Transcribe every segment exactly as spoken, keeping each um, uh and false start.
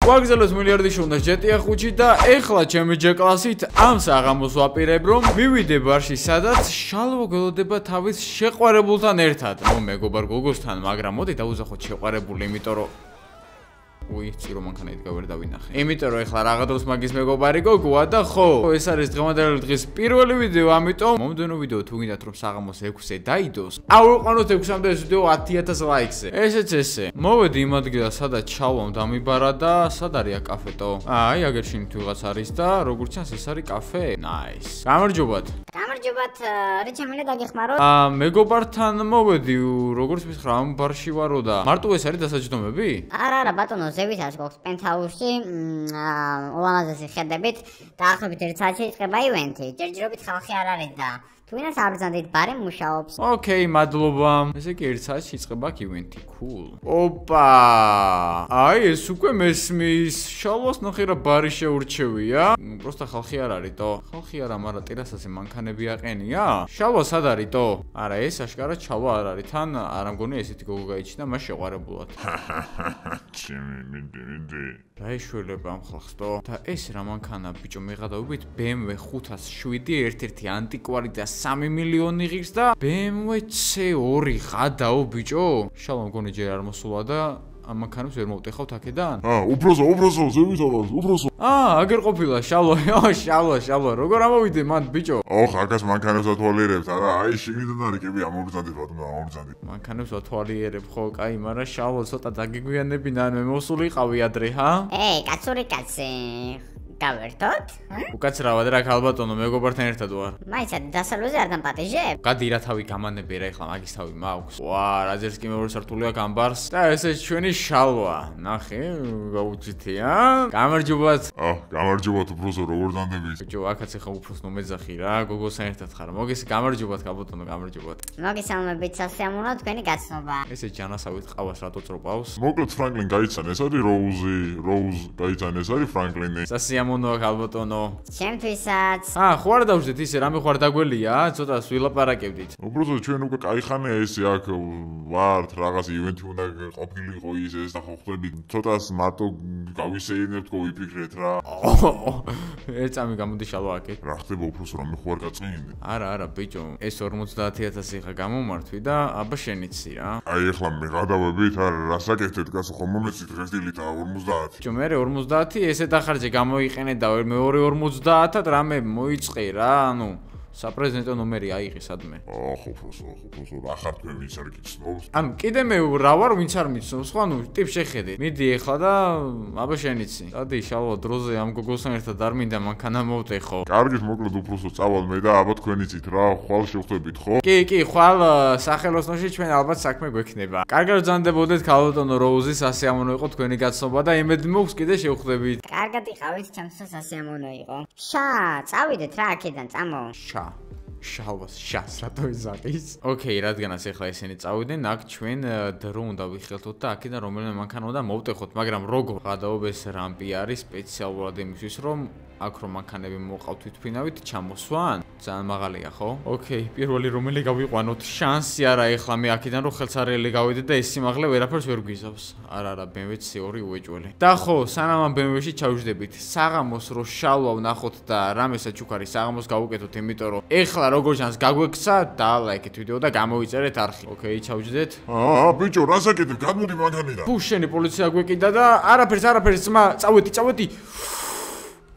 ვაგზავნოთ მილიარდიში უნდა ჯეტია ხუთი და ეხლა ჩემი ჯეკლასით ამ საღამოს ვაპირებ რომ მივიდე ბარში სადაც შალვა გველოდება თავის შეყვარებულთან ერთად. ნუ მეგობარ გოგოსთან, მაგრამ მოდი დავუზახოთ შეყვარებული, იმიტომ რომ უი, ცირო მანქანით გავერ დავინახე. იმიტომ რომ ეხლა რაღა დროს მაგის მეგობარი გოგოა და ხო, ეს არის დღევანდელი დღის პირველი ვიდეო, ამიტომ მომდენო ვიდეო თუ გინდათ რომ საღამოს ექვსზე დაიდოს, ავიყვანოთ ექვსამდე ეს ვიდეო ათი ათას ლაიქზე. ესეც ესე. მოვედი იმ ადგილას, სადაც ჩალვამ დამიბარა და სად არის კაფეტო? აი, აგერშინით ვიღაც არის და როგორც ჩანს ეს არის კაფე. ნაის. გამარჯობათ. გამარჯობათ, რა შემიძლია დაგეხმაროთ? აა, მეგობართან მოვედი, როგორც მითხრა, ამ ბარში ვარო და მარტო ეს არის დასაჯდომები? არა, არა, ბატონო, ზევითაც გვაქვს პენტჰაუსში, ულამაზესი ხედებით, დაახლოებით ერთ საათში იწყება ივენთი. ჯერჯერობით ხალხი არ არის და თუნდაც აბრძანდით ბარი მუშაობს. ოკეი, მადლობა. ესე იგი ერთ საათში იწყება ივენთი. Cool. ოპა! აი, ეს უკვე მესმის. შალვას ნახე რა ბარი შეურჩევია. პროსტა ხალხი არ არის თო. ხალხი არა, მაგრამ ტერასაზე მანქანები აყენია. შალვა სად არის თო? არა, ეს აშკარად შალვა არ არის. თან არ მგონი ესეთი გოგო გაიჩინა, მას შეყვარებულად. ჩემი მინდი მინდი. რა ეშველება ამ ხალხს თო? და ეს რა მანქანა ბიჭო მეღადავებით B M W ხუთას შვიდი ერთ-ერთი ანტიკვარი და სამი მილიონი ღირს და B M W C ორი ღადაო ბიჭო. შალვა მგონი ჯერ არ მოსულა და ამ მანქანებს ვერ მოვტეხავთ აქედან? აა, უბრალო, უბრალო, ზევითაც, უბრალო. აა, აგერ ყოფილა შალვა, ო, შალვა, შალვა, როგორ ამოვიდე მან ბიჭო? ოხ, აკას მანქანებს ათვალიერებთ, არა, აი, შიგნიდან არის კები ამორძანდი ბატონო, ამორძანდი. მანქანებს ათვალიერებ ხო, კაი, მაგრამ შალვა ცოტა დაგიგვიანებინა, მე მოსულიყავი ადრე, ჰა? ეი, კაცური კაცი. გავერთოთ? უკაცრავად რა ქალბატონო, მეგობართან ერთად ვარ. მაიცა დასავლზე არ დამპატიჟებ? გადი რა თავი გამანები რა ეხლა მაგის თავი მაქვს. ვა, რაძერს კი მეორე სართულია გამბარს და ესე ჩვენი შალვა. ნახე, გაუჩითი, ა? გამარჯობათ. აა, გამარჯობათ უბრალო, როგორ დანდებით? ბიჭო, აქაც ეხა უფროს ნომეძახი რა, გოგოსთან ერთად ხარ. მოგეს გამარჯობათ ქალბატონო, გამარჯობათ. მოგესალმებით, სასიამოვნო თქვენი გაცნობა. ესე ჯანასავით ყავს რატო წროპავს? მოკლედ ფრანკლინ გაიცან, ეს არის როუზი, როუზ გაიცან, ეს არის ფრანკლინი. სასიამოვნოა ქალბატონო. ჩემთვისაც. აა, ხო არ დავждეთ ისე, რამე ხო არ დაგველია, ცოტა ვილაპარაკებდით. უბრალოდ ჩვენ უკვე кай ხანია ესე აქ ვართ, რაღაც ივენთი უნდა ყოფილიყო ის ეს და ხო ხვდებით, ცოტას მარტო გავისეირნებთ, გავიფიქრეთ რა. ერთ წამი გამოდი შალვა აქეთ. რა ხდება უბრალოდ რომ მე ხო არ გაწმინდი? არა, არა, ბიჭო, ეს ორმოცდაათი ათასი ხა გამომართვი და აბა შენიცი რა. აი ეხლა მე გადავებით, არა, რასაკეთეთ, კაცო, ხომ მომეცით დღესდილით ორმოცდაათი. ბიჭო, მე ორმოცდაათი ესე დახარჯე გამოიყენე და მეორე ორმოცდაათად რამე მოიწყე რა, ანუ საპრეზიდენტო ნომერი აიღე სადმე. ოხ, უბრალოდ, უბრალოდ, რა ხართ მე ვინც არ გიცნობს? ანუ კიდე მე რა ვარ, ვინც არ მიცნობს, ხო, ანუ ტიპ შეხედე. მიდი ეხლა და აბა შენიცი. დადი შალვა დროზე ამ გოგოსთან ერთად არ მინდა მანქანა მოვტეხო. კარგით, მოკლედ უბრალოდ წავალ მე და აბა თქვენიცით რა, ხვალ შევხვდებით, ხო? კი, კი, ხვალ სახელოსნოში ჩვენ ალბათ საქმე გვექნება. კარგად ვზანდებოდეთ ქალბატონო როუზი, სასიამოვნო იყო თქვენი გაცნობა და იმედი მაქვს კიდე შევხვდებით. კარგად იყავით, ჩემთვის სასიამოვნო იყო. შა, წავიდეთ რა აქედან, წამო. შა შალვას შას რატო იზაყის? ოკეი, რადგანაც ეხლა ესენი წავიდნენ, აქ ჩვენ დრო უნდა ვიხელთოთ და აქედან რომელიმე მანქანა უნდა მოვტეხოთ, მაგრამ როგორ? გადაობეს რამპი არის სპეციალურად იმისთვის, რომ აქ რომ მანქანები მოყავთ თვითფრინავით ჩამოსვან? ძალიან მაღალია, ხო? ოკეი, პირველი რომელი გავიყვანოთ? შანსი არა ეხლა მე აქედან რომ ხელსარელი გავიდე და ეს სიმაღლე ვერაფერს ვერ გვიზავს. არა, არა, B M W C ორი უეჭველი. და ხო, სანამ ამ B M W-ში ჩავჯდებით, საღამოს რო შალვა ვნახოთ და რამესაც ჩუქარი საღამოს გავუკეთოთ, იმიტომ რომ ეხლა როგორ ჩანს გაგვექცა და ლაიქეთ ვიდეო და გამოვიწერეთ არხი. ოკეი, ჩავჯდეთ. აა, ბიჭო, რასაკეთებ? გადმოდი მანქანიდან. თუ შენი პოლიცია გვეკიდა და არაფერს, არაფერს, ძმა, წავედი, წავედი.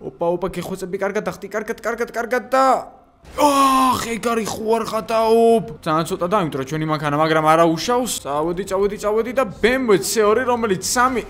ოპა, ოპა, გეხოცები, კარგად ახტი, კარგად, კარგად, კარგად და აх, ეგარი ხო არ ხატაობ. ძალიან ცოტა დამიტრო ჩვენი მანქანა, მაგრამ არა უშავს. წავედი, წავედი, წავედი და B M W C ორი, რომელიც სამი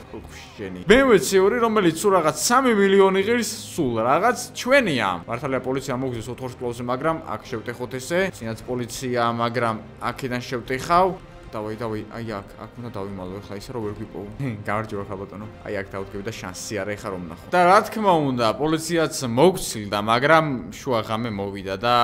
შენი. B M W C ორი, რომელიც სულ რაღაც სამი მილიონი ღირს, სულ რაღაც ჩვენია. მართალია პოლიცია მოგზეს ოთხ კლუბზე, მაგრამ აქ შევტეხოთ ესე. წინაც პოლიცია, მაგრამ აქედან შევტეხავ. დავაი, დავაი, აი აქ, აქ უნდა დავიმალო ეხლა ისე რომ ვერ გვიპოვო. გამარჯობა ხალბატონო. აი აქ დავდგები და შანსი არა ეხლა რომ ნახო. და რა თქმა უნდა, პოლიციაც მოგცილდა, მაგრამ შუა ღამე მოვიდა და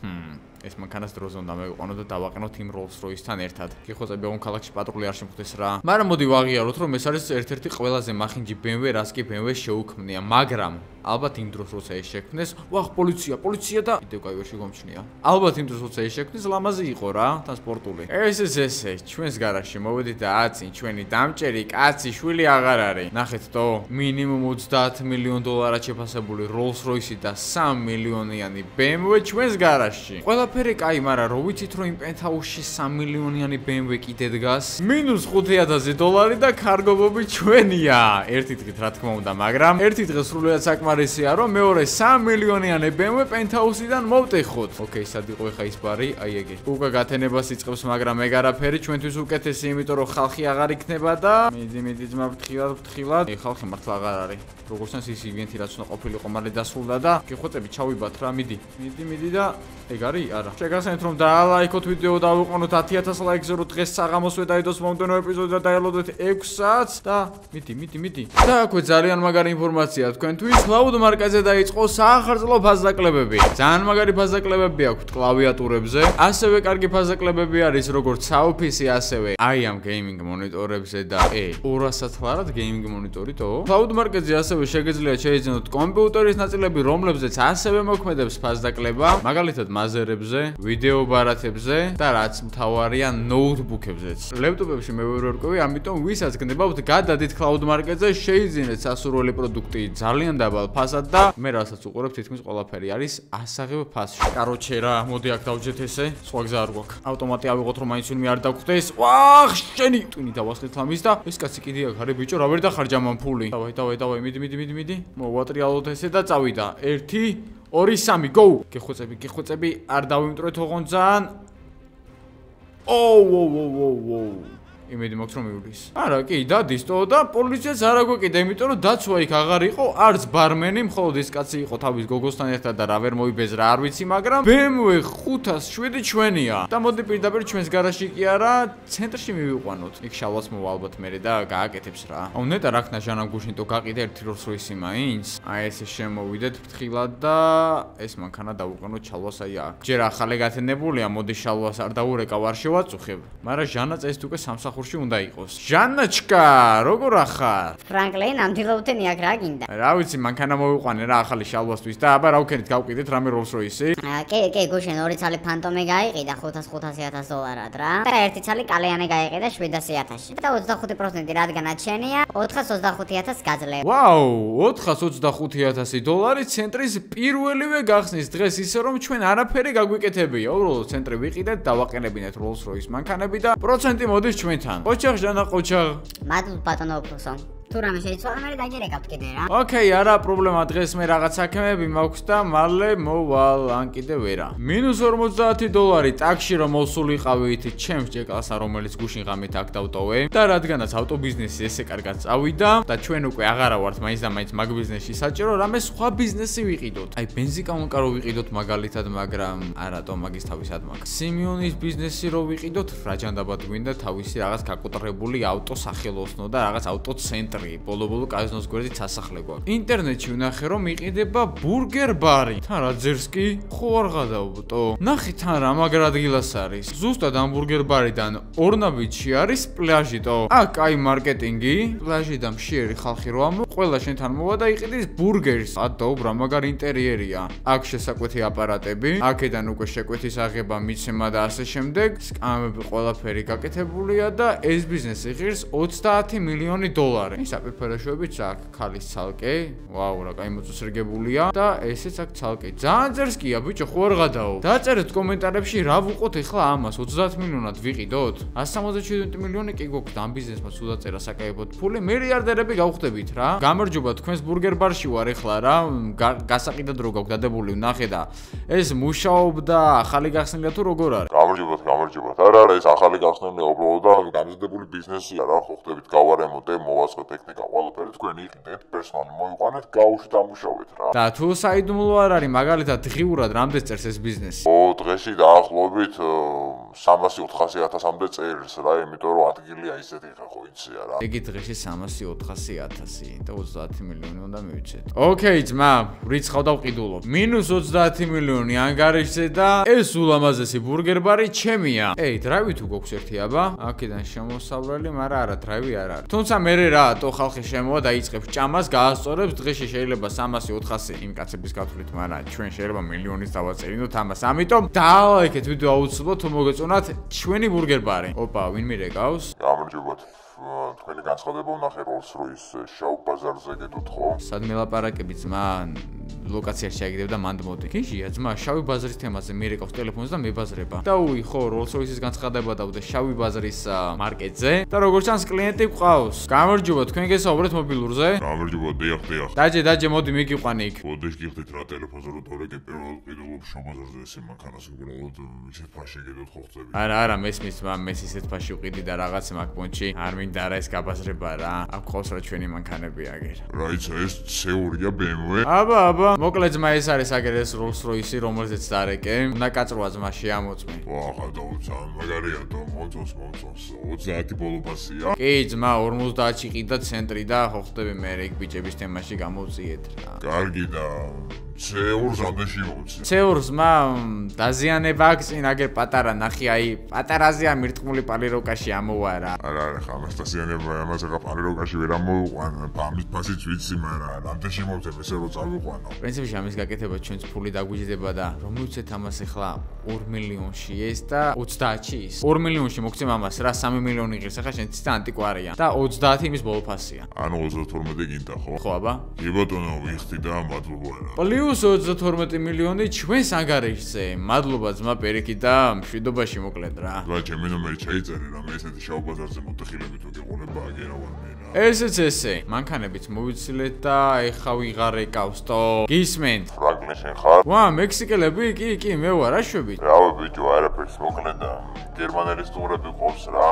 ჰმ ეს მანქანას დროზე უნდა მევიყვანო და დავაყენოთ იმ Rolls Royce-თან ერთად. გიხოცები ამ ქალაქში პატრული არ შემხვდეს რა. მაგრამ მოდი ვაღიაროთ, რომ ეს არის ერთ-ერთი ყველაზე მახინჯი B M W, რაც კი B M W შეუქმნია, მაგრამ ალბათ იმ დროს როცა ეს შექმნეს, ვახ, პოლიცია, პოლიცია და კიდევ კაივერში გომჩნია. ალბათ იმ დროს როცა ეს შექმნეს, ლამაზი იყო რა, თან სპორტული. ეს ეს ესე, ჩვენს გარაჟში მოვედით და აცი, ჩვენი დამჭერი კაცი შვილი აღარ არის. ნახეთ თო, მინიმუმ ოცდაათ მილიონ დოლარად შეფასებული Rolls-Royce და სამი მილიონიანი B M W ჩვენს გარაჟში. ყველაფერი კაი, მაგრამ რო ვიცით რომ იმ პენტჰაუსში სამი მილიონიანი B M W კიდე დგას, მინუს ხუთი ათასი დოლარი და კარგობები ჩვენია. ერთი დღით რა თქმა უნდა, მაგრამ ერთი დღე სრულიად საკმარისია რომ მეორე სამი მილიონიანი B M W პენტჰაუსიდან მოვტეხოთ. ოკეი, სად იყო ხა ის ბარი? აი ეგე. უკვე გათენებას იწყებს, მაგრამ ეგ არაფერი ჩვენთვის უკეთესი, იმიტომ რომ ხალხი აღარ იქნება და მიდი მიდი ძმა ფრთხილად ფრთხილად. ე ხალხი მართლა აღარ არის. როგორც წინს ის ივენთი რაც უნდა ყოფილიყო, მალე დასრულდა და გიხვეწები ჩავიბათ რა, მიდი. მიდი მიდი და ეგ არის? არა. შეგახსენეთ რომ დაალაიქოთ ვიდეო და ავიყვანოთ ათი ათას ლაიქზე რომ დღეს საღამოსვე დაიდოს მომდენო ეპიზოდი და დაელოდეთ ექვს საათს და მიდი მიდი მიდი. და აქვე ძალიან მაგარი ინფორმაცია თქვენთვის. Cloud მარკაზე დაიწყო საახალწლო ფაზაკლებები. ძალიან მაგარი ფაზაკლებები აქვთ კლავიატურებზე. ასევე კარგი ფაზაკლებები არის როგორც Surface, ასევე i am gaming მონიტორებზე და ე ორასად ლარად gaming მონიტორითო. Cloud მარკაზე ასევე შეგეძლიათ შეიძინოთ კომპიუტერის ნაწილები, რომლებზეც ასევე მოქმედებს ფაზაკლება, მაგალითად მაზერებზე, ვიდეო ბარათებზე და რაც მთავარია ნოუთბუქებზეც. ლეპტოპებში მე ვერ ვერკვევი, ამიტომ ვისაც გნებავთ გადადით Cloud მარკეტზე, შეიძინეთ სასურველი პროდუქტი ძალიან დაბალ ფასად და მე რასაც უყურებ თითქმის ყველაფერი არის ასაღებ ფასში. კაროჩე რა, მოდი აქ დავჯეთ ესე, სხვა გზა არ გვაქვს. ავტომატი ავიღოთ რომ მაინც ვინმე არ დაგხვდეს. ვახ, შენი ტვინი დავასხეთ ამის და ეს კაცი კიდე აქ არის ბიჭო, რა ვერ დახარჯა მან ფული. დავაი, დავაი, დავაი, მიდი, მიდი, მიდი, მიდი. მოვატრიალოთ ესე და წავიდა. ერთი, ორი, სამი, go! გეხვეწები, გეხვეწები, არ დავიმტრეთ ოღონდ ძალიან. ოუ, ოუ, ოუ, ოუ. იმედი მაქვს რომ მივლის. არა, კი, დადისტო და პოლიციაც არ აგვეკიდა, იმიტომ რომ დაცვა იქ აღარ იყო, არც ბარმენი, მხოლოდ ის კაცი იყო თავის გოგოსთან ერთად და რა ვერ მოიბეზრა, არ ვიცი, მაგრამ B M W ხუთას შვიდი ჩვენია. და მოდი პირდაპირ ჩვენს გარაჟში კი არა, ცენტრში მივიყვანოთ. იქ შალვაც მოვა ალბათ მერე და გააკეთებს რა. აუ ნეტა რაქნა ჟანამ გუშინტო გაყიდა ერთი Rolls-Royce მაინც. აი ესე შემოვიდეთ ფრთხილად და ეს მანქანა დავუყენოთ შალვას აი აქ. ჯერ ახალი გათენებულია, მოდი შალვას არ დაურეკავ, არ შევაწუხებ. მაგრამ ჟანა წესით უკვე სამსახურში უნდა იყოს. ჟანაჩკა, როგორ ახარ? ფრანკლინ, ამდილოუთენი აქ რა გინდა? რა ვიცი, მანქანა მოვიყვანე რა ახალი შალვასთვის და აბა რა ვქენით, გავყიდეთ რამე Rolls-Royce. კი, კი, გუშინ ორი ცალი ფანტომი გაიყიდა ხუთას ხუთასი ათას დოლარად რა. და ერთი ცალი კალიანი გაიყიდა შვიდასი ათასში. და ოცდახუთი პროცენტი რადგანაც შენია, ოთხას ოცდახუთი ათასს გაძლევ. ვაუ, ოთხას ოცდახუთი ათასი დოლარი ცენტრის პირველივე გახსნის დღეს, ისე რომ ჩვენ არაფერი გაგვიკეთებია. უბრალოდ ცენტრი ვიყიდეთ, დავაყენებინეთ Rolls-Royce მანქანები და პროცენტი მოდის ჩვენთან. Qochaq jana qochaq. Madl batono profesor. თუ რამე შეიცვალა, მე დაგერეკავთ კიდე რა. ოკეი, არა პრობლემა, დღეს მე რაღაც საქმეები მაქვს და მალე მოვალ, ან კიდე ვერა. მინუს ორმოცდაათი დოლარი ტაქსში რომ მოსულიყავით ჩემს ჭეკალსა, რომელიც გუშინ ღამით აქ დავტოვე და რადგანაც ავტობიზნესი ესე კარგად წავიდა და ჩვენ უკვე აღარა ვართ მაინც და მაინც მაგ ბიზნესში საჭირო, რამე სხვა ბიზნესი ვიყიდოთ. აი ბენზიკამონკა რო ვიყიდოთ მაგალითად, მაგრამ არატო მაგის თავისად მაგ. სიმიონის ბიზნესი რო ვიყიდოთ, რაჯანდაბად გვინდა თავისი რაღაც გაკოტრებული ავტო სახელოსნო და რაღაც ავტო ცენტრი. ბოლო-ბოლო კაზინოს გვერდით სასახლე გვაქვს. ინტერნეტში ვნახე რომ იყიდება ბურგერ ბარი. თან რა ძერს კი? ხო არ გადავბტო. ნახე თან რა მაგარ ადგილას არის. ზუსტად ამ ბურგერ ბარიდან ორნაბიჯში არის პლაჟიტო. აქ აი მარკეტინგი, პლაჟი და მშიერი ხალხი რო ამო, ყველა შენთან მოვა და იყიდის ბურგერს. ადაო ბრა მაგარ ინტერიერია. აქ შესაკვეთი აპარატები, აქედან უკვე შეკვეთის აღება, მიცემა და ასე შემდეგ. სკამები ყველაფერი გაკეთებულია და ეს ბიზნესი ღირს ოცდაათი მილიონი დოლარი. საპირფეროშოებიც აქ ქალის ცალკე, ვაუ რა კაი მოწესრიგებულია და ესეც აქ ცალკე. ძალიან ძერს კია ბიჭო, ხო არ გადაო. დაწერეთ კომენტარებში რა ვუყოთ ეხლა ამას, ოცდაათ მილიონად ვიყიდოთ? ასი სამოცდაშვიდი მილიონი კი გვაქვს ამ ბიზნესმა სულ დაწერა საკაებოდ ფული, მილიარდერები გავხდებით რა. გამარჯობა, თქვენს ბურგერ ბარში ვარ ეხლა რა, გასაყიდად რო გაქვს დადებული, ვნახე და ეს მუშაობდა, ახალი გახსნილია თუ როგორ არის? გამარჯობათ, გამარჯობათ. არა, არა, ეს ახალი გახსნილია უბრალოდ და გამზადებული ბიზნესია რა, ხო ხდებით გავარემონტე, მოვაწყო ტექნიკა, ყველაფერი თქვენი იყიდეთ, პერსონალი მოიყვანეთ, გაუშვით დამუშავეთ რა. და თუ საიდუმლო არ არის, მაგალითად დღიურად რამდენს წერს ეს ბიზნესი? ო, დღეში დაახლოებით სამასი ოთხასი ათასამდე წერს რა, იმიტომ რომ ადგილია ისეთი ხა ხო იცია რა. იგი დღეში სამასი ოთხასი ათასი და ოცდაათი მილიონი უნდა მივიცეთ. ოკეი, ძმა, რიცხავ და ვყიდულობ. მინუს ოცდაათი მილიონი ანგარიშზე და ეს ულამაზესი ბურგერ ბარი ჩემია. ეი, დრაივი თუ გვაქვს ერთი აბა? აქედან შემოსავლელი, მაგრამ არა, დრაივი არ არის. თუმცა მე რა, თო ხალხი შემოვა და იწყებს ჭამას, გაასწორებს, დღეში შეიძლება სამასი ოთხასი იმ კაცების გათვლით, მაგრამ ჩვენ შეიძლება მილიონის დავაწერინოთ ამას. ამიტომ დალაიქეთ ვიდეო აუცილებლად თუ მოგეწონათ ჩვენი ბურგერ-ბარი. ოპა, ვინ მირეკავს? გამარჯობათ. თქვენი განცხადება ვნახე Rolls-Royce შავ ბაზარზე გეტყვით ხო? სად მელაპარაკები ძმა? ლოკაციაში ჩაიგდებ და მანდ მოდი. გიჟია ძმა, შავი ბაზრის თემაზე მირეკავს ტელეფონს და მებაზრება. დაუი ხო, Rolls-Royce-ის განცხადება დავდე შავი ბაზრის მარკეტზე და როგორც ჩანს კლიენტი გვყავს. გამარჯობა, თქვენ გესაუბრეთ მობილურზე? გამარჯობა, დიახ, დიახ. დაჯე, დაჯე, მოდი მიგიყვანი იქ. მოდეშ გიხდით რა ტელეფონზე რო თორეკე პირველად ყიდულობ შავ ბაზარზე ესე მანქანას უბრალოდ ისეთ ფაში გედოთ ხო ხდები. არა, არა, მესმის ძმა, მეს ისეთ ფაში ვყიდი და რაღაც მაგ პონჩი. არ მინდა არა ეს გაბაზრება რა. აქ ყავს რა ჩვენი მანქანები აგერ. რა იცი ეს ცეურია B M W? აბა, აბა. მოკლედ ძმა ეს არის აგერ ეს Rolls-Royce, რომელზეც დარეკე. უნდა კაწროა ძმა შეამოწმე. ვახა დაუცა, მაგარია და მოწონს, მოწონს. ოცდაათი ბოლო ფასია. კი, ძმა, ორმოცდაათში ყიდა ცენტრი და ხო ხდები მე რეკ ბიჭების თემაში გამოვწიეთ რა. კარგი და ცეურს ამდენში მოვცი. ცეურს მა დაზიანება აქვს წინ აგერ პატარა ნახი აი პატარაზეა მირტყმული პალიროკაში ამოვა რა. არა, არა, ხამას დაზიანება ამაზე რა პალიროკაში ვერ ამოვიყვან, ამის ფასიც ვიცი, მაგრამ ამდენში მოვცემ ესე რომ წავიყვანო. პრინციპში ამის გაკეთება ჩვენც ფული დაგვიჯდება და რომ მივცეთ ამას ახლა ორ მილიონში ეს და ოცდაათში ის. ორ მილიონში მოგცემ ამას რა სამი მილიონი ღირს ახლა შენ ცი და ანტიკვარია და ოცდაათი იმის ბოლო ფასია. ანუ ოცდათორმეტი გინდა ხო? ხო აბა? კი ბატონო, ვიხდი და მადლობა რა. პლუს ოცდათორმეტი მილიონი ჩვენს ანგარიშზე. მადლობა ძმა პერიკი და მშვიდობაში მოკლედ რა. რა ჩემი ნომერი ჩაიწერე რა მე ესეთი შავ ბაზარზე მოტეხილებით ვიყოლება აგერავან მე რა. ესეც ესე. მანქანებით მოვიცილეთ და ეხა ვიღარ ეკავსტო. გისმენთ? ფრანგლი შენ ხარ? ვა, მექსიკელები? კი, კი, მე ვარ, რა შვებით? რავი ბიჭო, არაფერს მოკლედ და გერმანელი სტუმრები ყავს რა.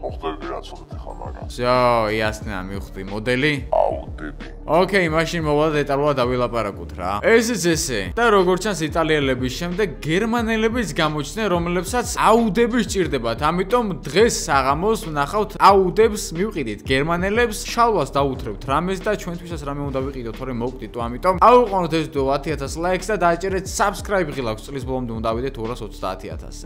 ხო ხდები რა ცოტათი ხარ მაგას. ზო, იასნა მივხვდი მოდელი? აუდები. ოკეი, მაშინ მოვალ დეტალურად დავილაპარაკოთ რა. ესეც ესე. და როგორც ჩანს იტალიელების შემდეგ გერმანელებიც გამოჩნდნენ, რომლებსაც აუდები სჭირდებათ. ამიტომ დღეს საღამოს ვნახავთ აუდებს მივყიდით. გერმანელებს შალვას დაუთრევთ რამეს და ჩვენთვისაც რამე უნდა ვიყიდოთ, თორემ მოვყდით ამიტომ. აუყოვნოთ ეს ვიდეო ათი ათას ლაიქს და დააჭერეთ subscribe ღილაკს. წლის ბოლომდე უნდა ავიდეთ ორას ოცდაათი ათასზე.